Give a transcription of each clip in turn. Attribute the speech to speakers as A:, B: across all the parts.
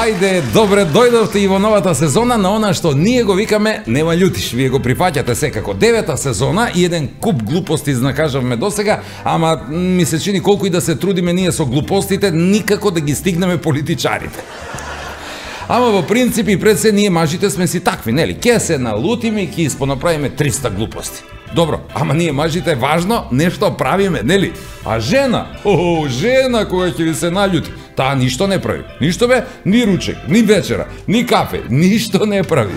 A: Ајде, добре дојдовте и во новата сезона на она што ние го викаме Нема љутиш. Вие го прифаќате секако. 9-та сезона и еден куп глупости знакажавме досега, ама ми се чини колку и да се трудиме ние со глупостите, никако да ги стигнеме политичарите. Ама во принцип и пред се ние мажите сме си такви, нели? Ке се налутиме и ке испонаправиме 300 глупости. Добро, ама ние мажите важно нешто правиме, нели? А жена, жена кога ќе ви се наљути, таа ништо не прави. Ништо бе, ни ручек, ни вечера, ни кафе, ништо не прави.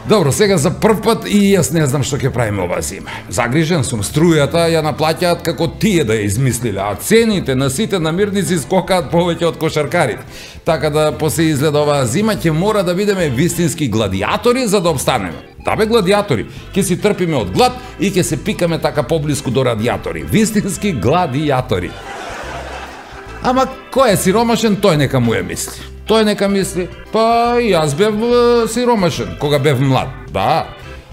A: Добро, сега за прв пат и јас не знам што ќе правиме оваа зима. Загрижен сум, струјата ја наплаќаат како тие да ја измислиле, а цените на сите намирници скокаат повеќе од кошаркарите. Така да после изгледа оваа зима ќе мора да бидеме вистински гладиатори за да обстанеме. Да бе, гладиатори, ќе си трпиме од глад и ќе се пикаме така поблиску до радиатори. Вистински гладиатори. Ама кој е сиромашен, тој нека му ја мисли. Тој нека мисли, па јас бев сиромашен кога бев млад. Да,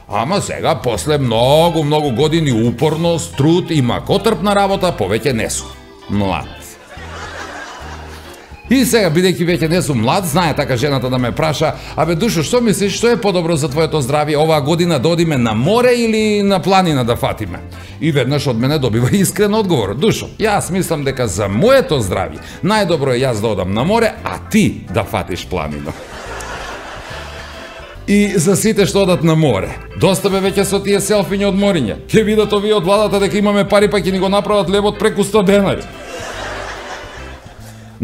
A: ама сега после многу години упорност, труд и макотрпна работа повеќе не сум млад. И сега, бидејќи веќе не сум млад, знае така жената да ме праша: абе Душо, што мислиш, што е подобро за твоето здравје оваа година, да одиме на море или на планина да фатиме? И веднаш од мене добива искрен одговор: Душо, јас мислам дека за моето здравје најдобро е јас да одам на море, а ти да фатиш планина. И за сите што одат на море, доста бе веќе со тие селфиња од мориња. Ќе видат овие од владата дека имаме пари, па ќе ни го направат лебот преку 100 денари.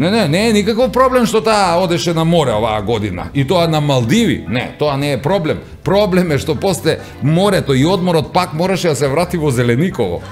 A: Не е никаков проблем што таа одеше на море оваа година. И тоа на Малдиви. Не, тоа не е проблем. Проблем е што после морето и одморот пак мораше да се врати во Зелениково.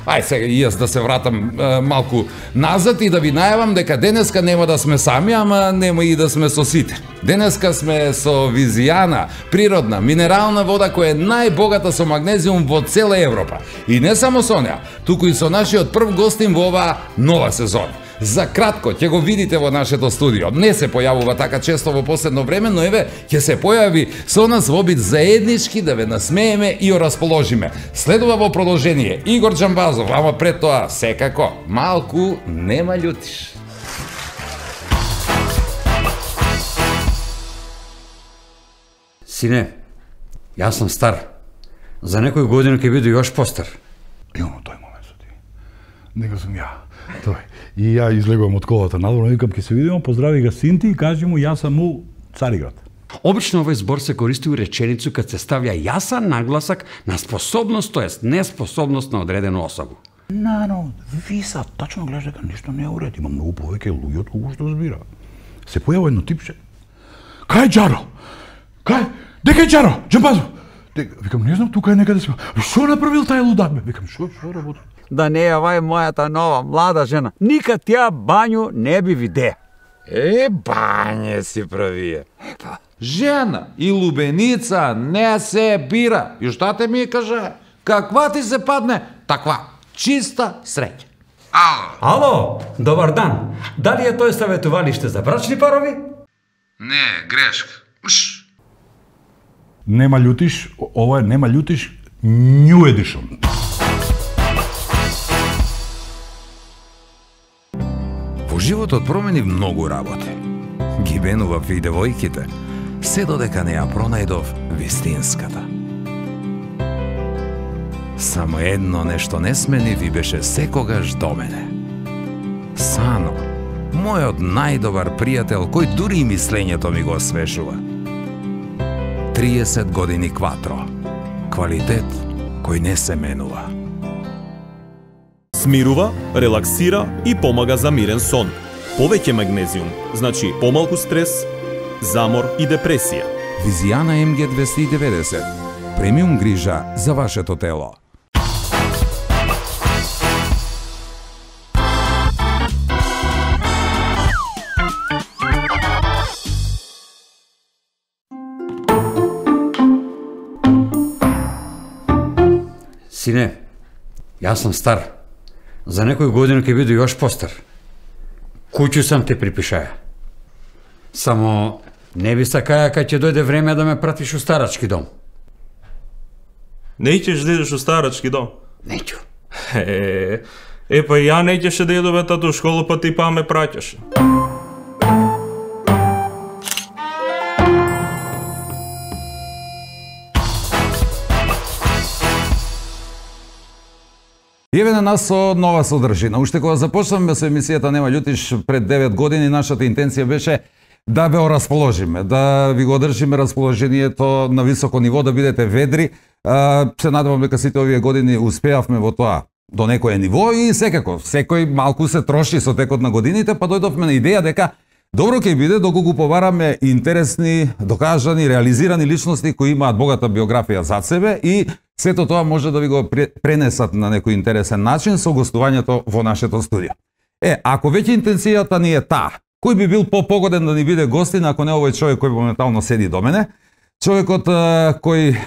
A: Ај сега и јас да се вратам малку назад и да ви најавам дека денеска нема да сме сами, ама нема и да сме со сите. Денеска сме со Визијана, природна, минерална вода која е најбогата со магнезиум во цела Европа. И не само со неа, туку и со нашиот прв гостин во оваа нова сезона. За кратко ќе го видите во нашето студио. Не се појавува така често во последно време, но еве ќе се појави со нас во обид заеднички да ве насмееме и ја расположиме. Следува во продолжение Игор Џамбазов, ама пред тоа секако малку Нема љутиш.
B: Сине, јас сум стар. За некој година ќе биде још постар.
C: Имам тој момент со ти. Нека сум ја. Тој. И ја излегувам од колата надвор, викам ќе се видиме, поздрави ga Синти и кажи му јас сум у Цариград.
B: Обично овој збор се користи у реченицу кад се ставља јасан нагласак на способност, тоест неспособност на одредена особа.
C: Но, ви са тачно гледаш дека нешто не е уред, има многу повеќе луѓе од кого што збира. Се појава едно типче. Кај Џаро? Кај? Дека е Џаро? Џамбазов? Викам, не знам, тука е некаде сме. Што направил тај лудак, бе? Викам, што работи?
D: Да не е овај мојата нова млада жена. Никад тја банју не би виде.
A: Бање си правие. Жена и лубеница не се бира. И шта те ми каже? Каква ти се падне, таква чиста среќа.
B: Ало, добар дан. Дали е тој саветувалиште за брачни парови?
A: Не, грешка.
C: Нема љутиш, ова е Нема љутиш New Edition.
A: Во животот промени многу работи. Ги бенував и девојките, се додека не ја пронајдов вистинската. Само едно нешто не смени ви беше секогаш до мене. Сано, мојот најдобар пријател, кој дури и мислењето ми го освежува. 30 години Кватро. Квалитет кој не се менува.
E: Смирува, релаксира и помага за мирен сон. Повеќе магнезиум, значи помалку стрес, замор и депресија.
A: Визијана MG290. Премиум грижа за вашето тело.
B: Сине, јас сум стар. За некој година ќе биде још постар. Куќу сам те припишаја. Само не би сакаја кај ќе дојде време да ме пратиш у старачки дом.
E: Не ќеш да идеш у старачки дом?
B: Неќу.
E: Па ја не ќеше да идове тату у школу, па ти па ме праќаше.
A: Еве на нас со нова содржина. Уште кога започнавме со емисијата Нема љутиш пред 9 години, нашата интенција беше да ве расположиме, да ви го одржиме расположението на високо ниво, да бидете ведри. Се надевам дека сите овие години успеавме во тоа до некое ниво и секако, секој малку се троши со текот на годините, па дојдовме на идеја дека добро ќе биде доколку го повараме интересни, докажани, реализирани личности кои имаат богата биографија зад себе и сето тоа може да ви го пренесат на некој интересен начин со гостувањето во нашето студио. Ако веќе интенцијата ни е таа, кој би бил попогоден да ни биде гостин ако не овој човек кој моментално седи до мене, човекот кој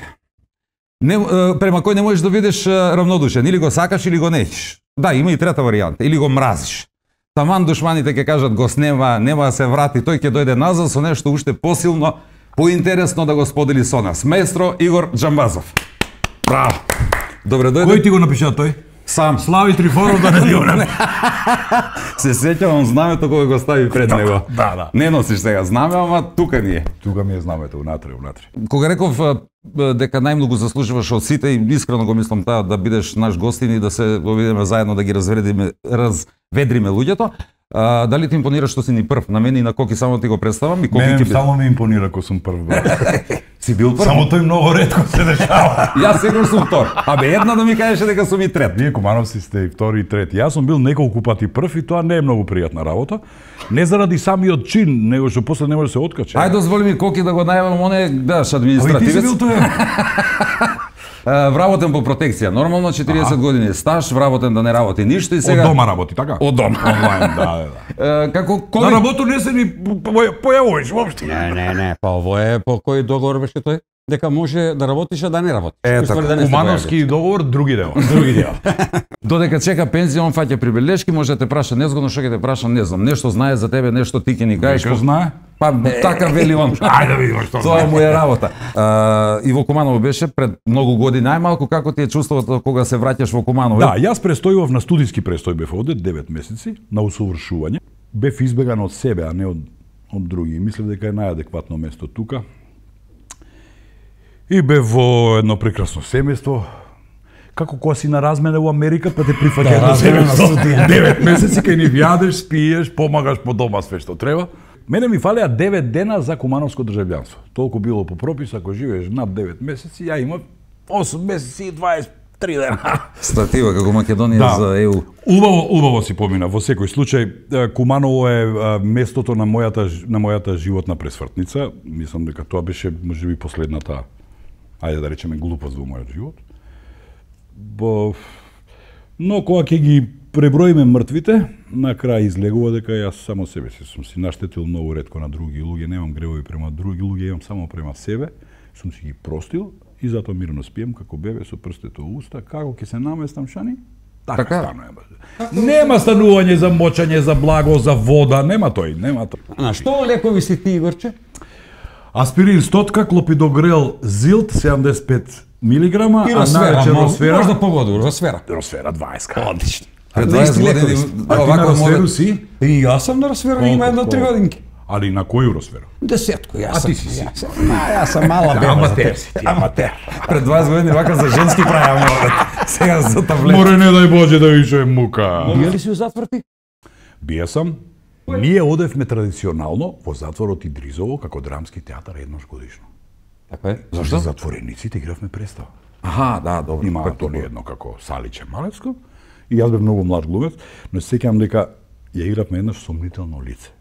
A: према кој не можеш да видиш равнодушен, или го сакаш или го неќиш. Да, има и трета варијанта, или го мразиш. Таман душманите ќе кажат го снема, нема да се врати, тој ќе дојде назад со нешто уште посилно, поинтересно да го сподели со нас. Маестро Игор Џамбазов. Браво. Добре дојде.
C: Кој ти го напиша тој?
A: Сам.
C: Слави Трифонов да не дјуне.
A: Се сеќавам знамето кога го стави пред него.
C: Да.
A: Не носиш сега знаме, ама тука ни е.
C: Тука ми е знамето, унатре.
A: Кога реков дека најмногу заслужуваш од сите и искрено го мислам таа да бидеш наш гостин и да се обидеме заедно да ги разведриме луѓето, дали ти импонира што си ни прв? На мене и на Коки само ти го представам и Коки
C: Мене
A: ќе
C: само ми импонира кога сум прв.
A: Си бил прв?
C: Само тој многу ретко се дешава.
A: Јас секогаш сум втор. Една да ми кажеше дека сум и трет.
C: Вие кумановци сте и втори и трети. Јас сум бил неколку пати прв и тоа не е многу пријатна работа. Не заради самиот чин, него што после не може да се откачи.
A: Ајде дозволи ми Коки да го најавам, он е баш административец.
C: Ти си бил тој.
A: Вработен по протекција. Нормално 40 години стаж, вработен да не работи ништо и сега
C: Од дома работи, така?
A: Од дома.
C: Онлайн, да.
A: Како
C: На работу не се ни појавуваш воопшто.
B: Не, па ово е по кој договор беше тој? Дека може да работиш, а да не работиш.
C: Кумановски договор, други дел.
A: Додека чека пензија, он фаќа прибелешки, може да те праша незгодно, што ќе те праша, не знам, нешто знае за тебе, нешто ти ќе ни кажеш.
C: Нека знае.
A: Па така вели он.
C: Ајде да видиме што
A: Тоа
C: знае.
A: му е работа. Иво Куманово беше пред многу години, најмалку како ти е чувството кога се враќаш во Куманово?
C: Да, јас престојував на студиски престој, бев овде 9 месеци на усовршување. Бев избеган од себе, а не од други. Мислев дека е најадекватно место тука. И бев во едно прекрасно семејство. Како кога си на размена во Америка, па те прифаќа едно семејство. 9 месеци кај ни јадеш, спиеш, помагаш по дома све што треба. Мене ми фалеа 9 дена за кумановско државјанство. Толку било по пропис, ако живееш над 9 месеци, ја имав 8 месеци и 23 дена.
A: Статива како Македонија за ЕУ.
C: Убаво си помина. Во секој случај, Куманово е местото на мојата животна пресвртница. Мислам дека тоа беше можеби последната, ајде да речеме, глупост во мојот живот. Но кога ќе ги преброиме мртвите, на крај излегува дека јас само себе сум си наштетил многу ретко на други луѓе, немам гревови према други луѓе, имам само према себе, сум си ги простил и затоа мирно спием како бебе со прстето во уста, како ќе се наместам шани? Така станува. Нема станување за мочање, за благо, за вода, нема тој.
B: На што лекови си ти, Игорче?
C: Аспирин стотка, клопидогрел Зилт 75 милиграма,
B: И
C: а најче Росфера.
B: Може да погоду, Росфера.
C: Росфера 20.
B: Одлично.
A: Пред 20 години
C: А ти на Росферу си?
B: И јас сам на Росфера, има едно 3 годинки.
C: Али на кој Росфера?
B: Десетко, јас
C: А
B: сам.
C: ти си си.
B: Јас сам мала беба.
C: Аматер си ти, аматер.
A: Пред 20 години вака за женски праја сега за таблет.
C: Море не дај Боже да више мука.
B: Бија ли си у затвор ти?
C: Бија сам. Ние одевме традиционално во затворот Идризово како драмски театар еднаш годишно.
B: Така е.
C: За затворениците игравме представа.
A: Аха, да, добро.
C: Има толи едно како Саличе Малевско и јас бев многу млад глумец, но се сеќавам дека ја игравме еднаш сомнително лице.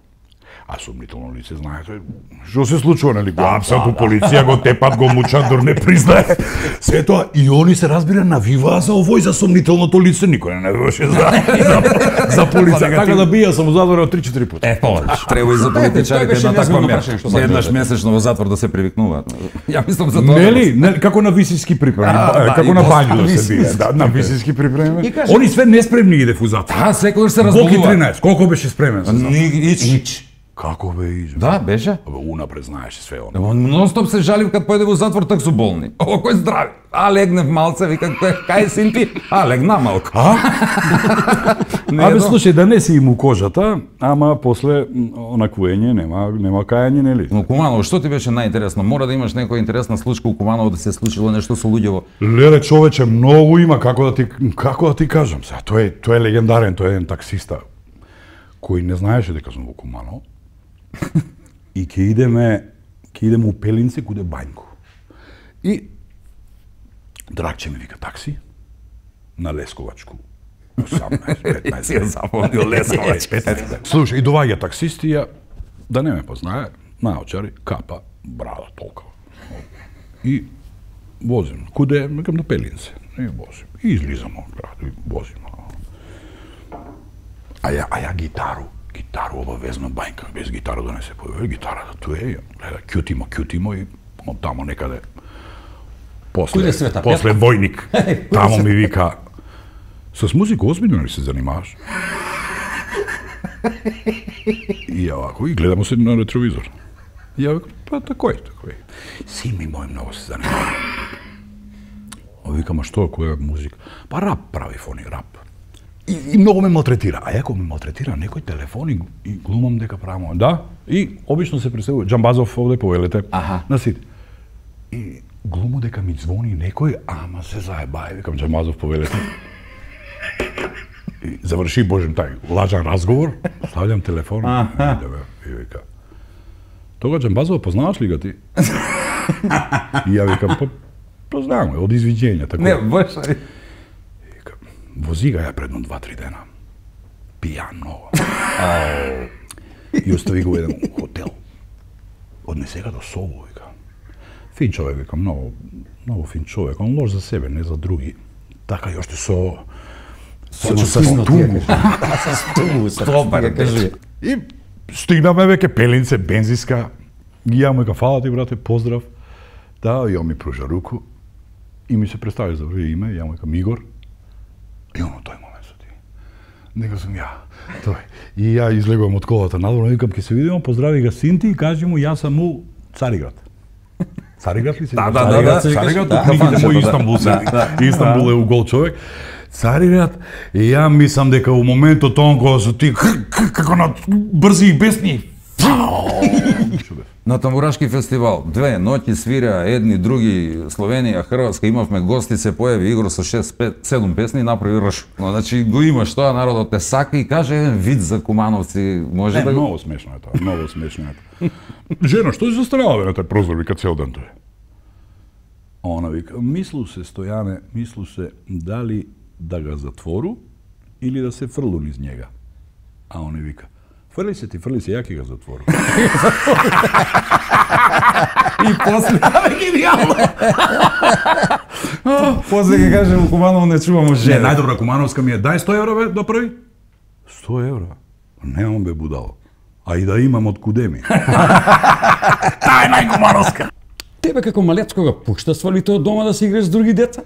C: А сомнително лице, знаете, што се случува, нели? Го апсат у полиција, го тепат, го мучат, дор не признае. Се тоа, и они се разбира навиваа за овој, за сомнителното лице, никој не навиваше за полиција. Така да бија сам во затворот 3-4 пати.
B: Повеќе.
A: Треба и за политичарите
B: беше
A: една таква
B: незвано
A: мера.
B: прашање, што сакаш
A: Еднаш
B: да
A: месечно во затвор да се привикнуваат. Ја мислам за тоа.
C: Нели, како на висиски припреми, како на бању да се бие, да, на висиски припреми. Они све неспремни идев у затвор.
A: А, секогаш се
C: Колку
A: разболува.
C: 13, колку беше спремен?
A: Нич.
C: Како бе изме?
A: Да, беше.
C: Абе, унапред знаеше све оно.
A: Нон-стоп се жалив кад појде во затвор, так су болни. О, кој здрави? А, легнев малце, вика, кај син ти? А, легна малку.
C: Абе, слушај, да не си им у кожата, ама после онаквуење нема кајање, нели?
A: Но Куманово, што ти беше најинтересно? Мора да имаш некоја интересна случка у Куманово, да се случило нешто со луѓево.
C: Леле, човече, многу има, како да ти кажам сега. Тој е легендарен, тој е еден таксиста кој не знаеше дека сум во Куманово. И ќе идеме у Пелинце, куде Бањко. И Драгче ми вика такси на Лесковачку. 18-15.
A: Си ја запомнил Лесковач.
C: Слушај, и доваѓа таксистија, да не ме познае, наочари, капа, брада толкова. И возим. Куде? Викам на Пелинце. И возим. И излизам од град, и возим. А ја гитару обавезно Бањка, без гитара да не се појави, гитарата ту е, гледа, кјутимо и од тамо некаде после војник, тамо ми вика, с музика озбиljно ли се занимаваш? И ја вако, и гледамо се на ретровизор. И ја викам, па такој. Син ми мој многу се занимава. А викам, а што, која музика? Па рап прави фони, рап. И многу ме малтретира. А јако ме малтретира некој телефон и глумам дека правам. Да, и обично се представува Џамбазов овде по Елете. На сите. И глуму дека ми звони некој, ама се заебај, викам Џамбазов по Елете. И заврши божем тај лажан разговор, ставljam телефон и вика. Тога Џамбазова познаваш ли га ти? И ја викам, познавам, од извиđenja, тако.
A: Не, баш.
C: Вози га ја предно 2-3 дена. Пијан много. И остави го еден хотел. Однесе ga до Собо, вика. Фин човек, вика, много фин човек. Он лош за себе, не за други. Така и оште со
A: тугу. Стопар, кажи.
C: И стигнаме веќе Пелинце, бензиска. Ги јам, вика, фала ти, брате, поздрав. Да, и он ми пружа руку. И ми се представи за име, јам, вика, Мигор. И оно тој момент со ти. Нека сум ја, тој. И ја излегувам од колата надвор, викам, ќе се видиме, поздрави го син ти и кажи му, јас сум у Цариград. Цариград ли се?
A: Да.
C: Цариград, у книгите мој Истанбул се. Истанбул е у гол човек. Цариград, и ја мислам дека у моментот он кога со ти, како на брзи и бесни.
A: На Тамбурашки фестивал, 2 ноќи свира едни, други, Словенија, Хрватска, имавме гости, се појави Игор со 6-7 песни и направи рш. Но, значи, го имаш тоа, народот те сака и каже еден вид за кумановци, може да го...
C: Много смешно е тоа, много смешно е тоа. Жена, што си застанала на тај прозор, вика цел ден тој? Она вика, мислу се, Стојане, мислу се, дали да ga затвору или да се фрлу низ njega. А он вика, фрли се, ја ќе ga затвору.
A: И после... Гениално! После ќе кажем, у Куманово не чувамо
C: Не,
A: жена.
C: најдобра кумановска ми е, дај 100 евра, бе, да прави. 100 евра? Немам, бе, будало. А и да имам од куде ми. Таа е најкумановска.
B: Тебе како малецко го пушта свалите од дома да се играш с други деца?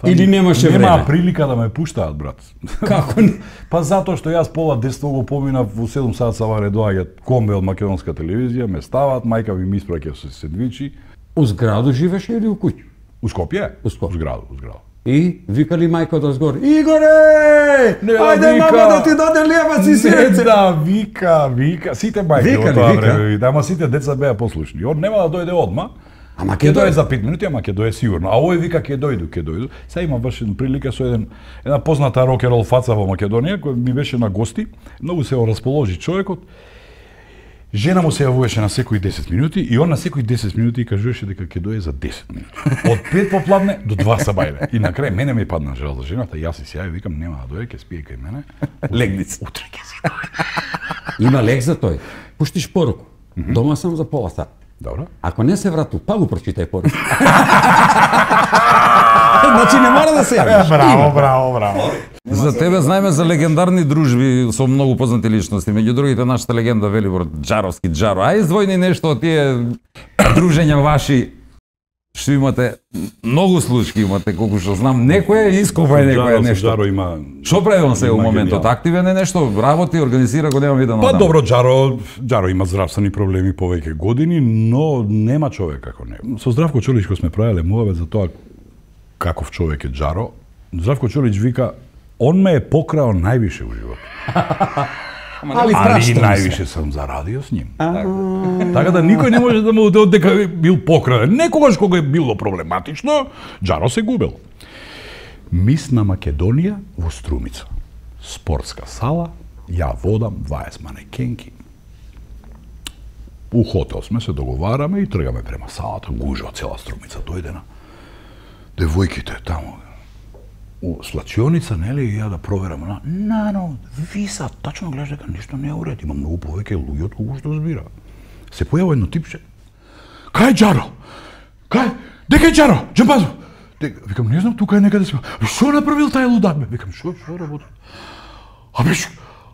B: Или немаше време?
C: Нема прилика да ме пуштаат, брат.
B: Како не?
C: Па затоа што јас пола детство го поминав, во 7 сат саваре доаѓаат комбе од македонска телевизија, ме ставаат, мајка ми испраќа со сендвичи.
B: У зграду живеше или у куќа?
C: У Скопје?
B: У Скопје.
C: У зграду.
B: И викали мајка од згор, Игоре! Ајде мама да ти даде левац и сирце!
C: Да, вика, сите мајки во тоа
B: Вика.
C: време, ама сите деца беа послушни. Он нема да дојде одма.
B: Ама
C: Ќе дое за 5 минути, ама ќе дое сигурно. А овој вика ќе дојду. Сега има баш прилика со една позната рокерол фаца во Македонија, кој ми беше на гости. Многу се расположи човекот. Жена му се јавуваше на секои 10 минути и он на секои 10 минути кажуваше дека ќе дое за 10 минути. Од 5 попладне до 2 сабајле. И на крај мене ми падна жал за жената, јас си се јавив, викам нема да дое, ќе спие кај мене.
A: Легни се.
C: Утре ќе си дое.
B: Има лек за тој. Пуштиш поруку. Дома сам за пола сат.
C: Добро.
B: Ако не се врату, па го прочитај поруку. Значи не мора да се јавиш.
C: Браво.
A: За тебе знаеме за легендарни дружби со многу познати личности. Меѓу другите нашата легенда Велибор Џаровски Џаро. А издвојни нешто од тие дружења ваши што имате многу случаи имате, колку што знам, некој ископај некој нешто.
C: Джаро има.
A: Што прави он се у
C: има
A: моментот?
C: гениал.
A: Активен е нешто, работи, организира, го немам видено.
C: Па добро, Джаро има здравствени проблеми повеќе години, но нема човек како него. Со Здравко Чолич кој сме правеле муавет за тоа каков човек е Джаро, Здравко Чолич вика, он ме е покрао највише у животот.
A: Али
C: Али највише сам зарадио с ним. Така да никој не може да му дека бил покраден. Некогаш кога е било проблематично, Джаро се губел. Мис на Македонија во Струмица. Спортска сала, ја водам 20 манекенки. У хотел сме се договараме и тргаме према салата, гужва цела Струмица дојдена. Девојките таму у свлачионица, нели, ја да проверам, Нано, Виса, тачно гледаш дека ништо не е уред, има многу повеќе луѓе од колку што збира. Се појава едно типче. Кај Джаро? Кај? Дека е Джаро? Џамбазо? Викам, не знам, тука е некаде се. Што направил тај лудак, бе? Викам, што работи?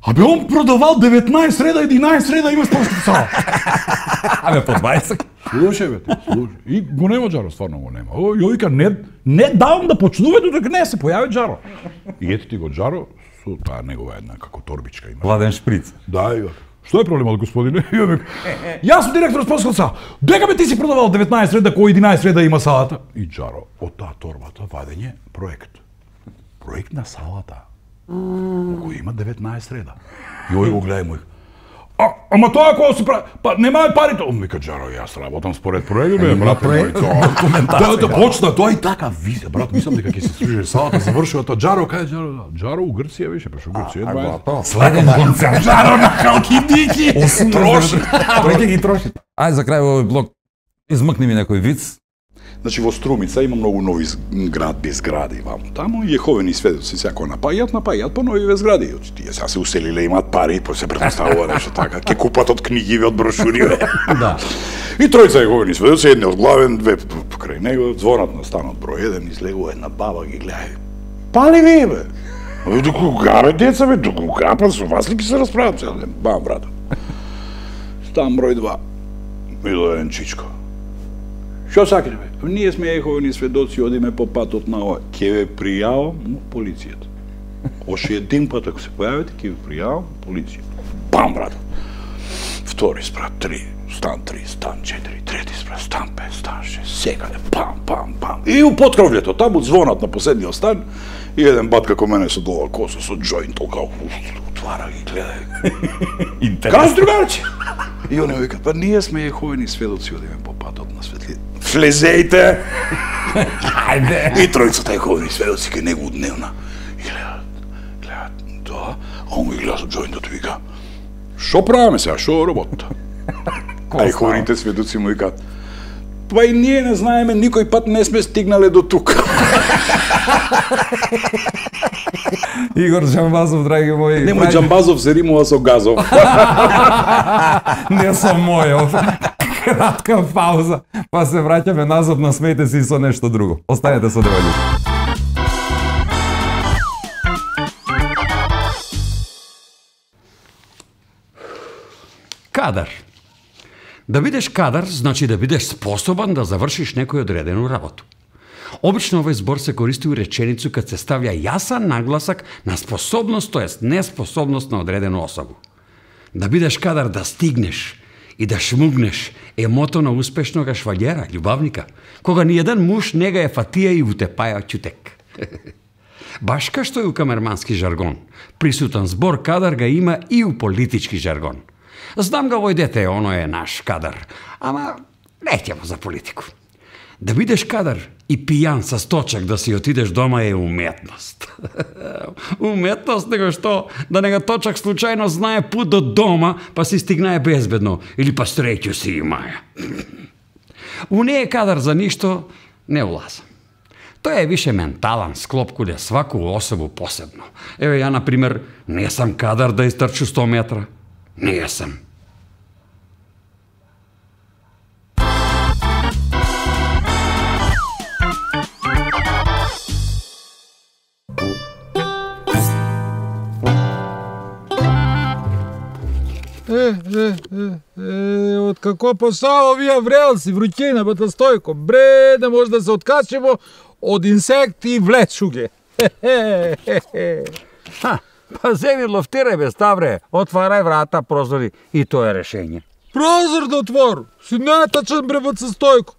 C: Абе, он продавал 19 среда, 11 среда, има спортска сала.
A: Абе, по 20.
C: Слушај, бе, слушај. И го нема Джаро, стварно го нема. Јој вика, не давам да почнува додека не се појави Джаро. И ете ти го Джаро, со таа негова една како торбичка има.
A: Владен шприц.
C: Да, и што е проблемот, господине? Јас сум директор спортска сала. Дека бе ти си продавал 19 среда, кој 11 среда има салата? И Джаро, од таа торбата вадење проект. Проект на салата. Кој има 19 среда. Јој го гледа мој. Ама тоа кога се прави, па немаат парите. Он вика, Джаро, јас работам според проект, бе, брат, да почна тоа и така визе, брат, мислам дека ќе се свиже салата, завршува тоа. Джаро, кај Джаро? Джаро у Грција беше, пеше у Грција.
A: Следен концерт.
C: Джаро на халкидики. Троши.
A: Тој ќе ги троши. Ајде за крај овој блок, измъкни ми некој виц.
C: Значи во Струмица има многу нови зградби, згради ваму таму и Јеховени сведоци секој напајат по нови згради. Тие сега се уселиле, имаат пари, па се претставува нешто така, ќе купат од книгиве, од брошури. Да. И тројца Јеховени сведоци, едни од главен, две покрај него, звонат на станот број 1, излегува една баба ги гледа. Пали ви бе? До кога бе деца бе? До кога па со вас ли ќе се расправам цел ден? Бам брат. Стан број 2. Идо еден чичко. Што сакате бе? Ние сме Јеховени сведоци, одиме по патот на ова. Ќе ве пријавам полицијата. Оше един пат ако се појавите, ќе ве пријавам полицијата. Бам брат. Втори спрат 3, стан 3, стан 4, трети спрат, стан 5, стан 6, секаде, пам. И у поткровљето, таму звонат на последниот стан и еден бат како мене со долга коса, со джоинт, толка отвара ги гледа. Кажи другарче! И они викат, па ние сме Јеховени сведоци, одиме по патот на светли. Влезејте! Ајде! И тројцата Јеховени сведоци ке него дневна. И гледат, да, а он ги гледа со джоинтот и вика, шо правиме сега, шо работа? А Јеховените сведоци му викат, па и ние не знаеме, никој пат не сме стигнале до тука.
A: Игор Џамбазов, драги мои.
C: Немој Џамбазов се римува со Газов.
A: Не со мојов. Кратка пауза, па се враќаме назад на смејте си со нешто друго. Останете со Девајлица.
B: Кадар. Да бидеш кадар, значи да бидеш способан да завршиш некој одредено работу. Обично овој збор се користи у реченицу кад се ставља јасан нагласак на способност, тоест неспособност на одредена особа. Да бидеш кадар да стигнеш и да шмугнеш е мото на успешнога шваљера, љубавника, кога ни еден муж не га е фатија и утепаја чутек. Баш ка што е у камермански жаргон, присутен збор кадар га има и у политички жаргон. Знам га овој дете, оно е наш кадар, ама не ќе за политику. Да бидеш кадар и пијан со сточак да си отидеш дома е уметност. Уметност него што да нега точак случајно знае пут до дома, па си стигнае безбедно, или па среќу си имаја. У не е кадар за ништо, не улаза. Тоа е више ментален склоп куде сваку особу посебно. Еве ја, например, не сам кадар да истрчу 100 метра. Не сам.
F: Од како посао вија врелци, вруќина, бата Стојко. Бре, да може да се откачимо од инсекти и влечуге.
D: Па земи лофтирај бе, Ставре, отварај врата, прозори и тоа е решење.
F: Прозор да отвору, си нетачен бре бата Стојко.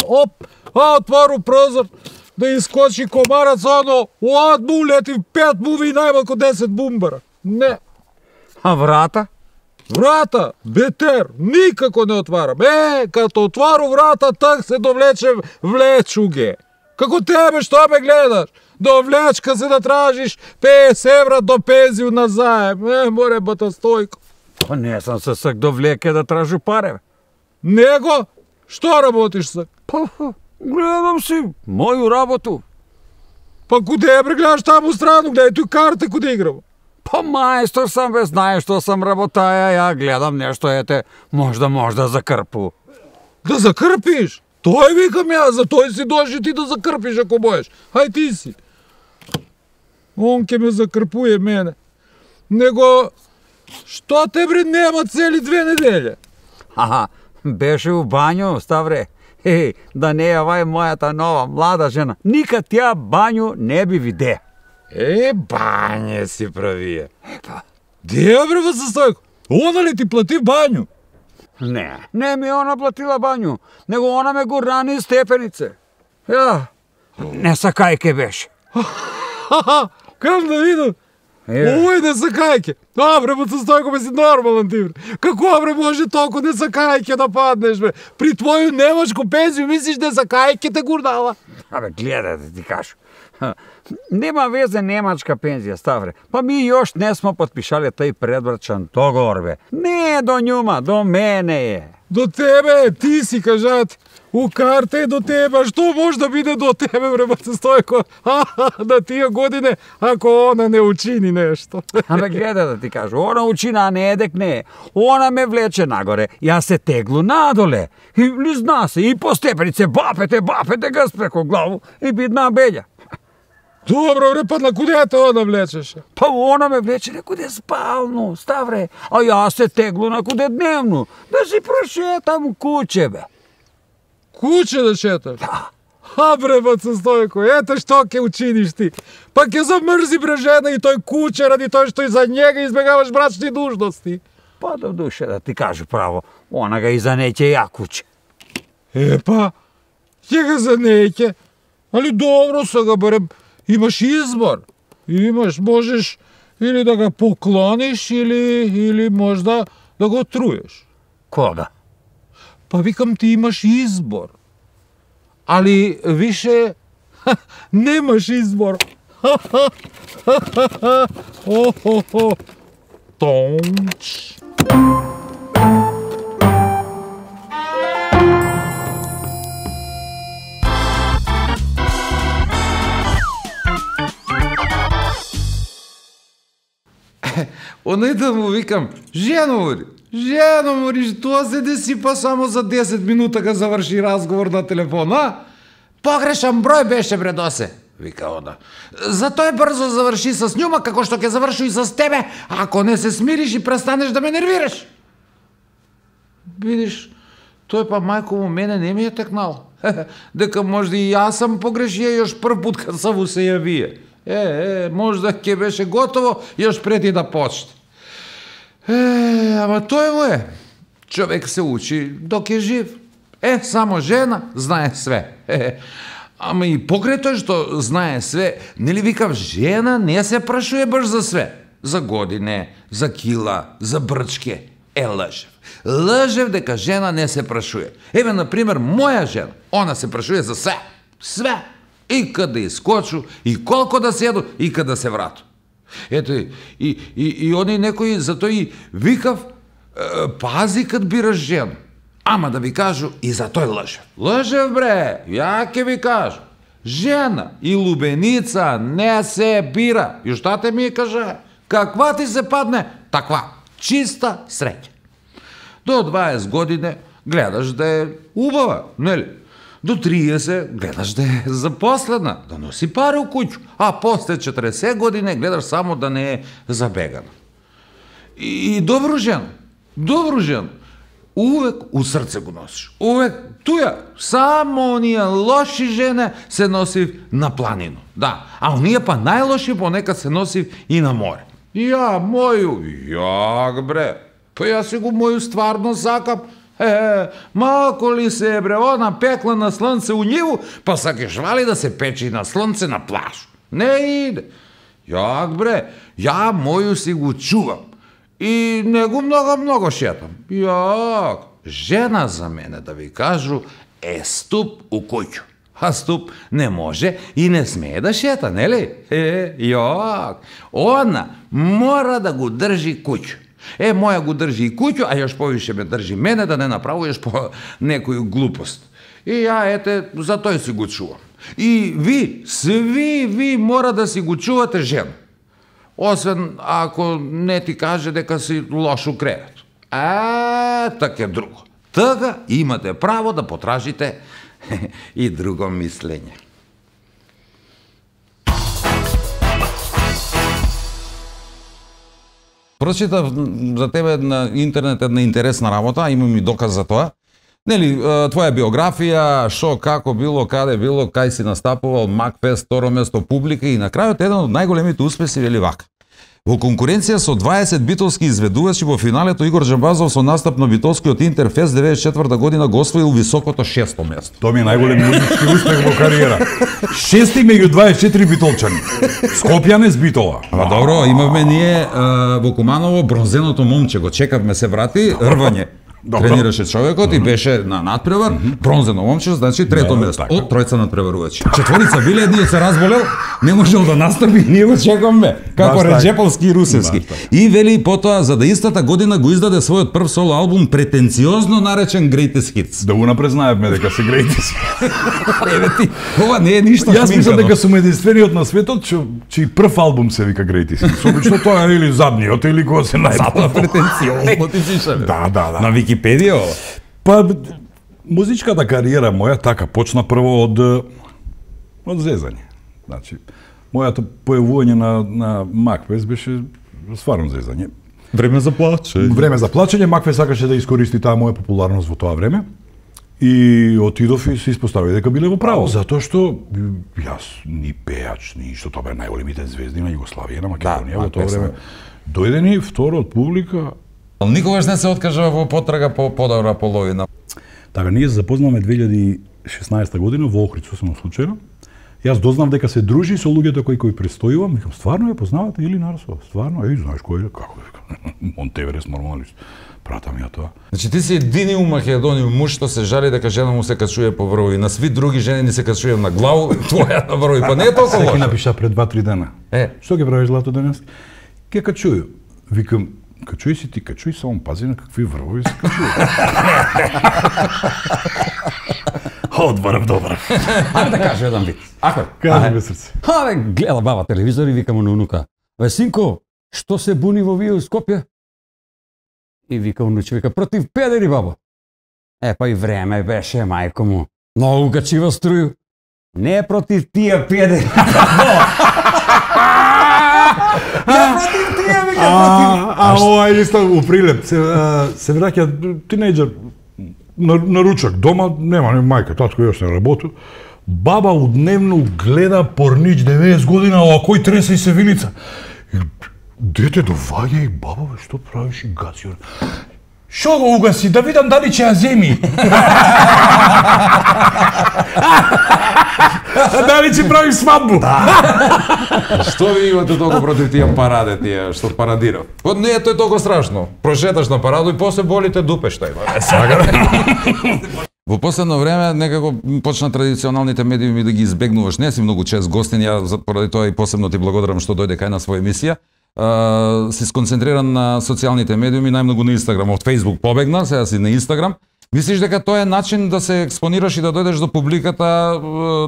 F: Оп, отвору прозор, да искочи комарац, оно, одму улети 5 буви и најмалку 10 бумбара. Не.
D: А врата?
F: Врата, бетер, никако не отварам. Като отвару врата, так се довлече влечуге. Како тебе, што ме гледаш? До влечка се да тражиш 50 евра до пензiju на заем. Море бата Стојко.
D: Па не сам се сак до влеке да тражу паре.
F: Него? Што работиш сак?
D: Па, гледам си моју работу.
F: Па куде бре гледаш таму страну, гледај тој карте куде играм.
D: Па мајстор сам бе, знаеш што сам работаја, ја гледам нешто, ете, можда закрпу.
F: Да закрпиш? Тој викам ја, за тој си доши ти да закрпиш ако можеш. Хај ти си. Он ке ме закрпуе мене. Него, што те бре нема цели 2 неделја?
D: Аха, беше у бању, Ставре. Да не јавај мојата нова млада жена. Никад тја бању не би виде.
F: Бање си правија. Де бре бата Стојко? Она ли ти плати бању?
D: Не ми она платила бању, него она ме гурна низ степенице. Ја, не сакајке беше.
F: Кам да видам? Овој не сакајке. Бре, бата Стојко, бе си нормален ти, бре. Како, бре, може толку не сакајке да паднеш, бре? При твоју немачку пензiju мислиш не сакајке те гурнала?
D: Абе, гледај да ти кажу. Нема везе немачка пензија, Ставре. Па ми још не смо потпишале тај предбрачан договор, бе. Не е до њума, до мене е.
F: До тебе, ти си кажат. У карта е до тебе, што може да биде до тебе, бре, бата Стојко? На тие године, ако она не учини нешто.
D: Абе, гледај да ти кажу, она учина, а не едекне. Она ме влече нагоре, ја се теглу надоле. И лизна се, и по степенице, бапете газ преко главу и бидна беља.
F: Добро, бре, па на куде те она влечеше?
D: Па она ме влече некуде спално, Ставре, а ја се теглу накуде дневно, да си прошетам куќе, бе.
F: Куќе да шеташ? Бре, бата Стојко, ете што ќе учиниш ти. Па ќе замрзи бре жена и тој куќе ради тој што и за njega избегаваш брачни дужности.
D: Па до душе да ти кажу право, она га и за неќе ја куќе.
F: Па, ќе га за неќе. Али добро сега барем, имаш избор. Можеш или да го поклониш, или можда да го труеш.
D: Кога?
F: Па викам ти имаш избор. Али више немаш избор. Тонч.
A: Оној да му викам, жено мори, тоа се десипа само за 10 минута га заврши разговор на телефон, а? Погрешан број беше, бре, досе, вика она. Затоа брзо заврши с њума, како што ќе заврши и с тебе, ако не се смириш и престанеш да ме нервираш. Видиш, тој па мајко му мене не ми е текнал. Дека можда и јас сам погрешија још прв пут кад сам се јавија. Можда ќе беше готово још преди да почне. Ама тој му е. Човек се учи док е жив. Само жена знае све. Ама и покрај тој што знае све, нели викав, жена не се прашуе баш за све. За године, за кила, за брчке. Лжев. Лжев дека жена не се прашуе. Например, моја жена, она се прашуе за све. Све. И каде искочу, и колко да седу, и каде се врату. Ето, и они некои, затоа и викав, пази кад бираш жена. Ама да ви кажу, и за тој лжев. Лжев, бре, ја ќе ви кажу. Жена и лубеница не се бира. И šta те ми кажа? Каква ти се падне, таква. Чиста среќа. До 20 години гледаш да е убава, нели? До 30 гледаш да е запослена, да носи пари у куќу, а после 40 години гледаш само да не е забегана. И добро жена,
C: добру жена. Увек у срце го носиш. Увек туја. Само оние лоши жене се носив на планину. Да, а оние па најлоши понекад се носив и на море. Ја, моју, јак бре. Па ја си го моју стварно сакам. Малко ли се бре, она пекла на слънце у ниву, па сакаш вали да се печи на слънце на плаж. Не иде. Јак бре, ја моју си го чувам. И не го много шетам. Јак, жена за мене, да ви кажу, е ступ у куќу. А ступ не може и не смее да шета, нели? Јак, она мора да го држи куќу. Моја го држи и куќу, а још повише ме држи мене да не направуваш по некоju глупост. И ја, за тој си го чувам. И ви, сви ви мора да си го чувате жена. Освен ако не ти каже дека си лош у кревет. Така е друго. Така имате право да потражите и друго мислење.
A: Прочитав за тебе на интернет една интересна работа, имам и доказ за тоа. Нели, твоја биографија, шо, како било, каде било, кај си настапувал, Макфест, второ место, публика и на крајот еден од најголемите успеси вели вака. Во конкуренција со 20 битолски изведувачи во финалето Игор Џамбазов со настап на битолскиот Интерфест 94 година го освоил високото 6-то место.
C: Тоа ми е најголем музички успех во кариера. 6 меѓу 24 битолчани. Скопјане с Битола.
A: Добро, имавме ние во Куманово бронзеното момче, го чекавме се врати, рвање. Тренираше човекот и беше на надпревар, бронзено момче, значи трето место од тројца надпреварувачи. Четворица биле, едниот се разболел, не можел да настапи, ние го чекаме како Реджеповски и Русевски. И вели потоа за да истата година го издаде својот прв соло албум претенциозно наречен Greatest Hits.
C: Да го напрезнаевме дека се Greatest.
A: Еве ти, ова не е ништо шминкано.
C: Јас мислам дека сум единствениот на светот чиј прв албум се вика Greatest Hits. Обично тоа е или задниот или кога се најдобро.
A: Претенциозно ти пишале.
C: Да.
A: На Википедија ова?
C: Па, музичката кариера моја така почна прво од зезање. Значи, мојато појавување на Макфест беше стварно зезање.
A: Време за плачење.
C: Време за плачење, Макфест сакаше да искористи таа моја популарност во тоа време. И отидов и се испостави дека биле во право, затоа што јас ни пеач, ни што тоа бе најголемите звезди на Југославија, на Македонија во тоа време. Дојде ни второ од публика.
A: Никогаш не се откажа во потрага по подобра половина.
C: Така, ние се запознаваме 2016 година во Охрид, сосема случајно. Јас дознав дека се дружи со луѓето кои престојувам, викам, стварно ја познавате или Нарсова? Стварно, знаеш кој е, како викам, Монтеверес нормалист. Пратам ја тоа.
A: Значи ти си едини у Македонија муж што се жали дека жена му се качува по врвови, на сви други жени ни се качува на главу, твоја на врвови, па не е толку лошо.
C: Секи напиша пред 2-3 дена. Што ќе правиш злато денес? Ке качуju. Викам, качуј си ти, качуј, само пази на какви врвови се качуја. Одбрав, добра.
D: Ајде да кажа еден вид.
C: Кажи бе срце.
D: Гледа баба телевизор и вика му на унука. Синко, што се буни во вие у Скопје? И вика унуче, вика, против педери, бабо. Па и време беше, мајко му. Многу качива струју. Не против тие педери. Против тие, вика, против.
C: Ова е исто у прилеп. Се враќа тинејџер на ручак. Дома нема ни мајка, татко још не работи. Баба удневно гледа порнич 90 година, а кој тресе и се вилица. Дете доваѓа и баба, бе, што правиш и гаси? Шо го угаси, да видам дали ќе ја земи. Дали ќе прави свадбу?
A: Што ви имате толку против тие параде, тие што парадирав? Не е тој толку страшно. Прошеташ на параду и после болите дупе што има. Во последно време некако почна традиционалните медиуми да ги избегнуваш. Не си многу чест гостин, ја поради тоа и посебно ти благодарам што дојде кај на своја емисија. Си сконцентриран на социјалните медиуми, најмногу на Инстаграм. Од Фејсбук побегна, сега си на Инстаграм. Мислиш дека тоа е начин да се експонираш и да дојдеш до публиката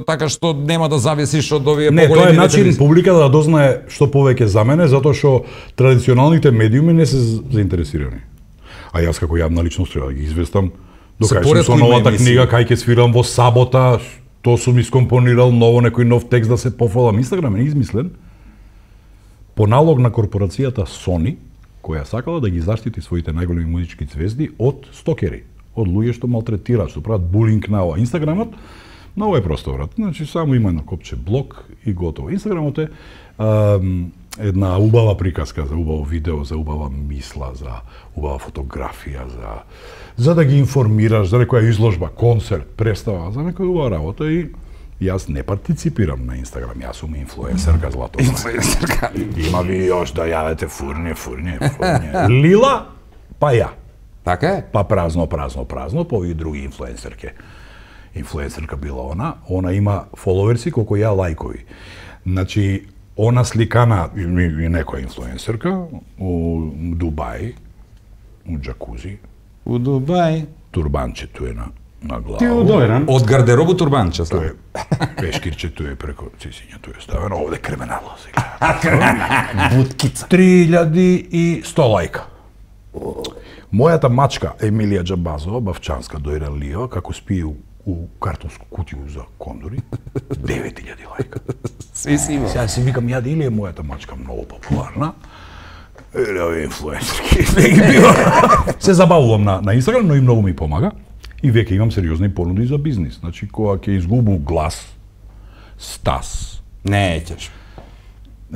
A: така што нема да зависиш од овие поголеми?
C: Не, тоа е начин публиката да дознае што повеќе за мене, затоа што традиционалните медиуми не се заинтересирани. А јас како јавна личност треба да ги известам до кај сум со новата книга, кај ќе свирам во сабота, тоа сум искомпонирал ново некој нов текст да се пофалам. Инстаграм е измислен по налог на корпорацијата Sony која сакала да ги заштити своите најголеми музички звезди од стокери, од луѓе што малтретираат, што прават булинг на ова. Инстаграмот многу е просто, брат. Значи само има едно копче блок и готово. Инстаграмот е една убава приказка за убаво видео, за убава мисла, за убава фотографија, за да ги информираш за некоја изложба, концерт, представа, за некоја убава работа и јас не партиципирам на Инстаграм, јас сум инфлуенсерка злато.
A: Инфлуенсерка.
C: Има ви još да јавете фурње. Лила, па ја.
A: Така е?
C: Па празно, па овие други инфлуенсерке. Инфлуенсерка била она има фоловерси колку ја лајкови. Значи, она сликана и некоја инфлуенсерка у Дубај, у джакузи.
A: У Дубај.
C: Турбанчето е на глава.
B: Ти удојран.
A: Од гардеробу турбанче.
C: Тоа е пешкирчето е преко цисињето е ставено, овде криминално сега.
B: Буткица.
C: 3100 лајка. Мојата мачка Емилија Џабазова, бавчанска дојде Лио, како спие у картонску кутију за кондори, 9000 лајка. Сега си викам, ја или е мојата мачка многу популарна, или овие инфлуенсерки, не ги бива. Се забавувам на Инстаграм, но и многу ми помага. И веќе имам сериозни понуди за бизнис. Значи, кога ќе изгубу глас, стас.
A: Не, ќеш.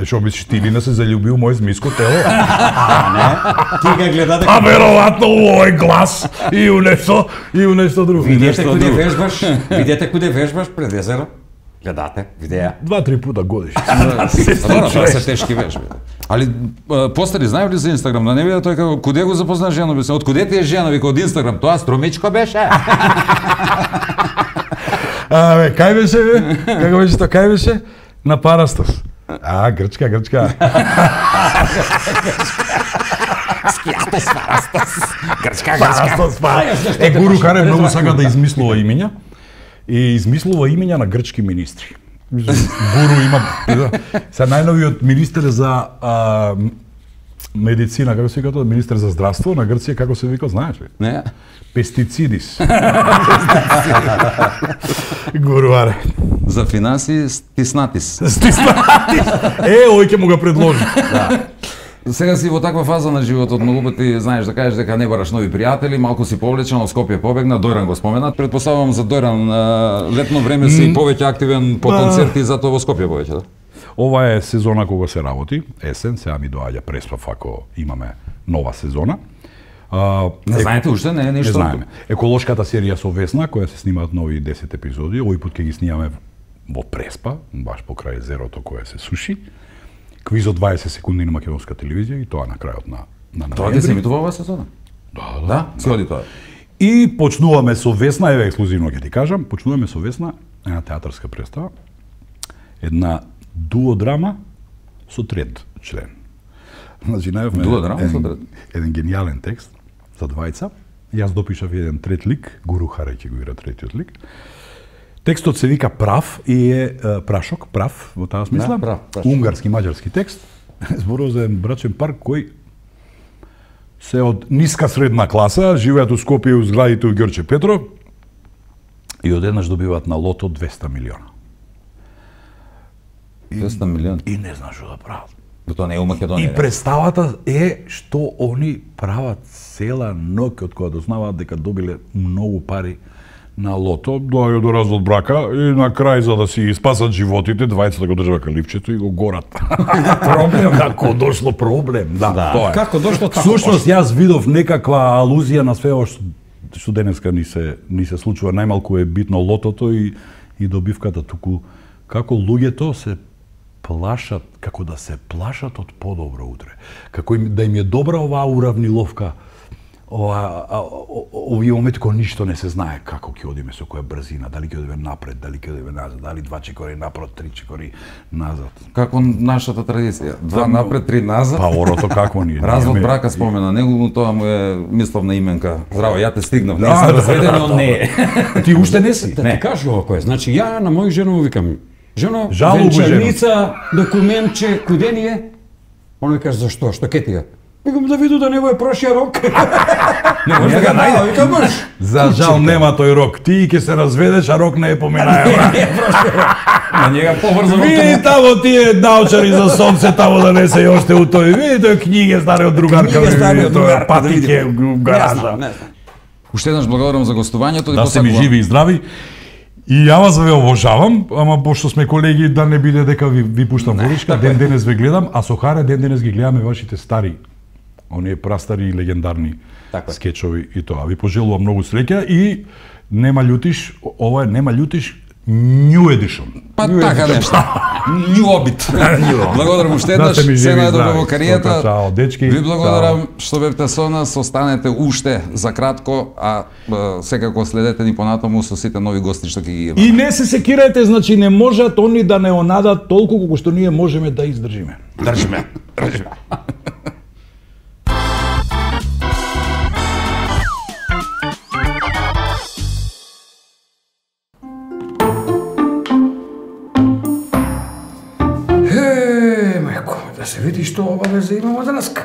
C: Што мислиш, ти ли не се залюбил мој змиско тело?
B: Ти га гледате.
C: А веројатно у овој глас и у нешто друго.
B: Видете куде вежбаш пред езеро. Гледате, видеа.
C: 2-3 пута годишно.
A: Добро, тоа се тешки вежби. Али постари знаеш ли за Инстаграм? Да не виде тој како куде го запозна жена, бе? Од куде ти е жена, вика од Инстаграм? Тоа струмичко беше.
C: Кај беше, бе? Како беше тоа? Кај беше? На Парастос. Грчка.
A: Скијатос, Парастос. Грчка.
C: Парастос. Гуру Каре многу сака да измислува имиња. И измислува имиња на грчки министри. Гуру има... Сега најновиот министер за медицина, како се вика тоа? Министер за здравство на Грција, како се вика, знаеш ли?
A: Не.
C: Пестицидис. Гуру Аре.
A: За финанси стиснатис.
C: Ој ќе му го предложи.
A: Сега си во таква фаза на животот, многу пати знаеш да кажеш дека не бараш нови пријатели, малку си повлечен, од Скопје побегна, Дојран го споменат. Предпоставувам за Дојран летно време си повеќе активен по концерти, затоа во Скопје повеќе, да?
C: Ова е сезона кога се работи, есен, сега ми доаѓа преспав ако имаме нова сезона.
A: Не знаете уште, не е ништо.
C: Не знаеме. Еколошката серија со Весна, која се снимаат нови 10 епизоди, овој пат ќе ги снимаме во Преспа, баш покрај езерото кое се суши. Квиз од 20 секунди на македонска телевизија и тоа на крајот на
A: Тоа ќе се емитува оваа сезона? Да, се оди тоа.
C: И почнуваме со Весна, еве ексклузивно ќе ти кажам, почнуваме со Весна една театарска представа, една дуодрама со трет член. Значи најавме еден гениален текст за двајца. Јас допишав еден трет лик, Гуру Харе ќе го игра третиот лик. Текстот се вика Прав и е прашок, прав, во таа смисла.
A: Да, прав.
C: Унгарски, маđarски текст. Зборува за еден брачен пар кој се од ниска средна класа, живеат у Скопје у зградите у Ѓорче Петро и одеднаш добиваат на лото 200 милиона.
A: 200 милиона?
C: И не знаеш што да прават.
A: Тоа не е у Македонија.
C: И представата е што они прават цела ноќ од кога дознаваат дека добиле многу пари на лото, доаѓа до развод брака и на крај за да си спасат животите, двајцата го држаат каливчето и го горат. Проблем, како дошло проблем. Да, тоа е.
B: Како дошло така?
C: Всушност јас видов некаква алузија на све што денеска ни се случува, најмалку е битно лотото и добивката, туку како луѓето се плашат, како да се плашат од подобро утре. Како да им е добра оваа уравниловка, овие моменти кога ништо не се знае како ќе одиме, со која брзина, дали ќе одиме напред, дали ќе одиме назад, дали 2 чекори напред, 3 чекори назад.
A: Како нашата традиција, 2 напред, 3 назад.
C: Па орото какво ни е?
A: Развод брака спомена, него тоа му е мисловна именка. Здраво, ја те стигнав, не сум разведен, но не е.
C: Ти уште не си?
B: Да ти кажу кој е. Значи ја на моја жена му викам: "Жено,
C: Жалобу,
B: венчаница, документче, куде ни е?" Оној каже: "Зашто? Што ке ти е?" Викам: "Да виду да не е прошија рок." Не може да го најде, викам: "Мрш."
C: За жал нема тој рок. Ти ќе се разведеш, а рок не е поминаја.
A: На njega побрзо.
C: Види тамо тие научари за сонце тамо да не се уште у тој. Види тој книги стари од другарка.
D: Книги стари од другарка, да
C: патике
D: видиме.
C: у гаража.
D: Не знам.
A: Уште еднаш благодарам за гостувањето и
C: Да сте ми
A: посакувам.
C: живи и здрави. И ја вас ве обожавам, ама пошто сме колеги да не биде дека ви пуштам водичка, ден денес ве гледам, а со Харе ден денес ги гледаме вашите стари, оние прастари и легендарни скечови и тоа. Ви пожелувам многу среќа и нема љутиш, ова е нема љутиш New Edition.
A: Па така нешто. New Obit. Благодарам уште еднаш, се најдобро во кариерата.
C: Чао, дечки.
A: Ви благодарам што бевте со нас, останете уште за кратко, а секако следете ни понатаму со сите нови гости што ќе ги имаме.
C: И не се секирајте, значи не можат они да не онадат толку колку што ние можеме да издржиме.
A: Држиме.
B: Мајко, да се види што обавеза имamo денеска.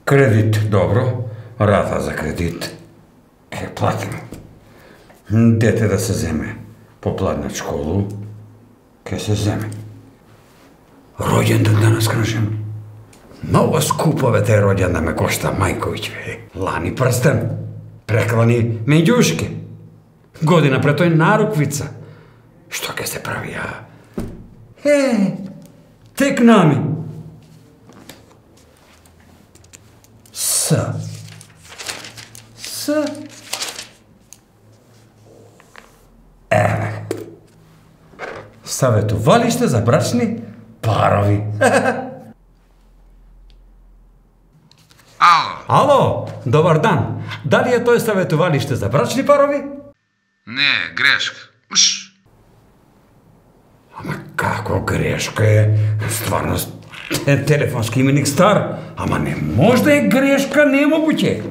B: Кредит, добро, рата за кредит. Ке платим. Дете да се земе, попладнат школу, ке се земе. Роѓендан денес кажем. Много скупо бе те роѓендан ме кошта Мајковиќ, бе. Лани прстен, преклани меѓушки. Година пред тој наруквица. Што ке се прави, а? Тек нами. С. Еве. Саветувалиште за брачни парови. Ало, добар дан. Дали е тој саветувалиште за брачни парови?
G: Не, грешка.
B: Ама како грешка е? Стварно, телефонски именик стар. Ама не може да е грешка, не е могуќе.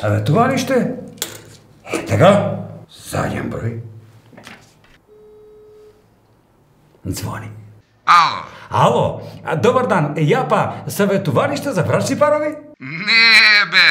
B: Саветувалиште? Тега, заден број. Звони. Ало, добар дан, ја па саветувалиште за брачни парови?
G: Не, бе,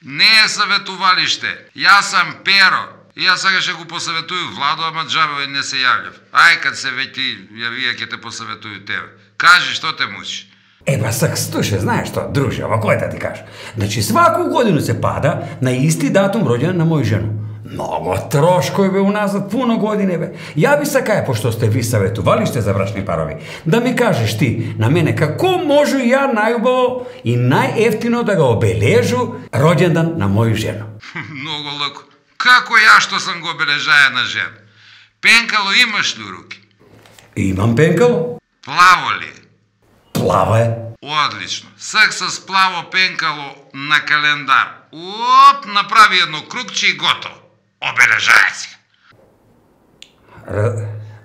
G: не е саветувалиште. Јас сам Перо. Јас сега ќе го посаветуju Владо, ама џабе не се јављав. Ај, кад се веќе јавија ќе те посаветуju тебе. Кажи, што те мучи?
B: Еба, слушай, знаеш што, друже, ова кој да ти кажа? Значи, сваку годину се пада на исти датум роѓен на мој жену. Много трошкови бе уназад, пуно години бе. Ја би сакаја, пошто сте ви саветувалиште за брачни парови, да ми кажеш ти, на мене, како можу ја најубаво и најефтино да го обележу роѓендан на мој жену?
G: Много лако. Како ја што сам го обележаја на жена? Пенкало имаш ли у руки?
B: Имам пенкало.
G: Плаво ли?
B: Плаво е.
G: Одлично. Сак с плаво пенкало на календар. Оп, направи едно крукче и готово. Обележаја си.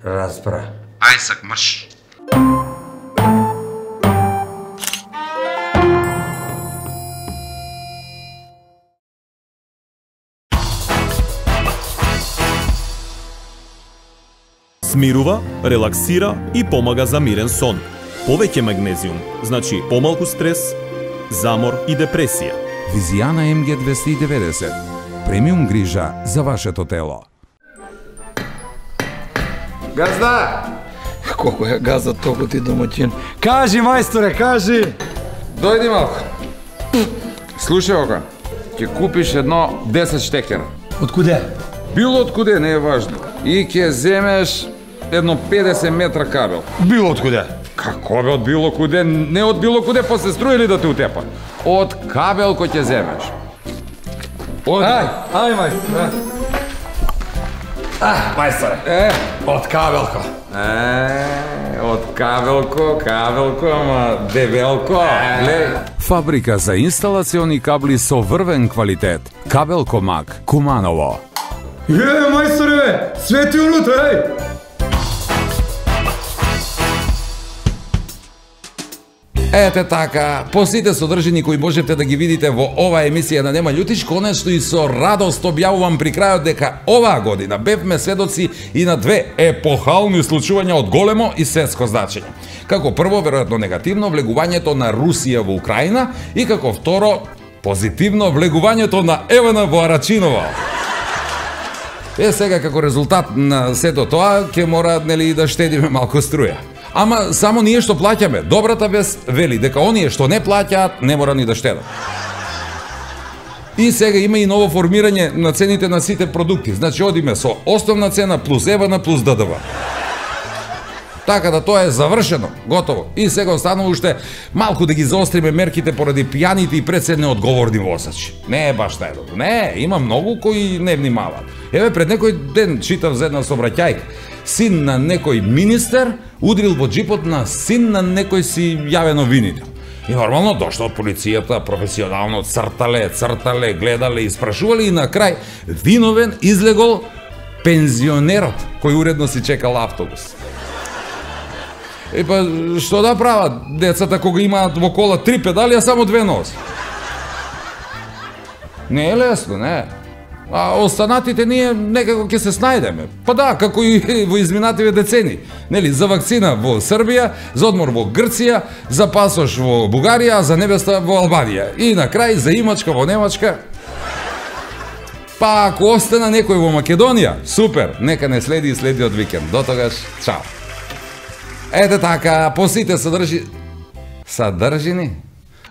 B: Разбра.
G: Ај сак мрш.
E: Смирува, релаксира и помага за мирен сон. Повеќе магнезиум, значи помалку стрес, замор и депресија.
A: Визијана МГ 290. Премиум грижа за вашето тело.
F: Газда! Колко е газа толку ти домаќин. Кажи, мајсторе, кажи!
A: Дојди малку. Слушај ока, ќе купиш едно 10 штекера.
F: Од куде?
A: Било од куде, не е важно. И ќе земеш едно 50 метра кабел.
F: Било од куде?
A: Како бе од било куде? Не од било куде, после струили да те утепа. Од кабел кој ќе земеш.
F: Ај, мајсторе.
B: Мајсторе. Од кабелко.
A: Од кабелко, ама дебелко. Глеј. Фабрика за инсталациони кабли со врвен квалитет. Кабелко Мак, Куманово.
F: Мајсторе, бе! Свети унутре, ај!
A: Ете така, по сите содржини кои можете да ги видите во оваа емисија на Нема љутиш, конечно и со радост објавувам при крајот дека оваа година бевме сведоци и на две епохални случувања од големо и светско значење. Како прво, веројатно негативно, влегувањето на Русија во Украина и како второ, позитивно влегувањето на Евана во Арачинова. Сега како резултат на сето тоа ќе мора нели да штедиме малку струја. Ама само ние што плаќаме, добрата вест вели дека оние што не плаќаат не мора ни да штедат. И сега има и ново формирање на цените на сите продукти. Значи одиме со основна цена плюс ЕВН плюс ДДВ. Така да тоа е завршено, готово. И сега останува уште малку да ги заостриме мерките поради пијаните и пред се неодговорни возачи. Не е баш најдобро. Не, има многу кои не внимаваат. Еве пред некој ден читав за една сообраќајка. Син на некој министер удрил во джипот на син на некој си јавен обвинител. И нормално дошло од полицијата, професионално цртале, гледале, испрашувале и на крај виновен излегол пензионерот кој уредно си чекал автобус. И па што да прават децата кога имаат во кола 3 педали, а само 2 носи? Не е лесно, не. А останатите ние некако ќе се снајдеме. Па да, како и во изминативе децени. Нели, за вакцина во Србија, за одмор во Грција, за пасош во Бугарија, а за невеста во Албанија. И на крај за имачка во Немачка. Па ако остана некој во Македонија, супер, нека не следи и следи од викенд. До тогаш, чао. Ете така, по сите содржини.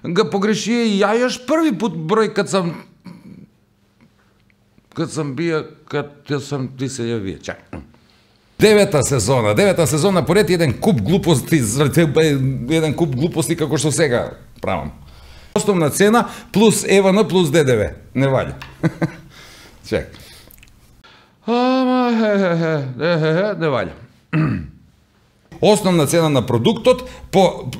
A: Га погреши и ја јаш први пут број кад сам ти се јавија. Чак. Девета сезона поред еден куп глупости како што сега правам. Основна цена плюс ЕВН плюс ДДВ. Не ваља. Чек. Ама не ваља. Основна цена на продуктот по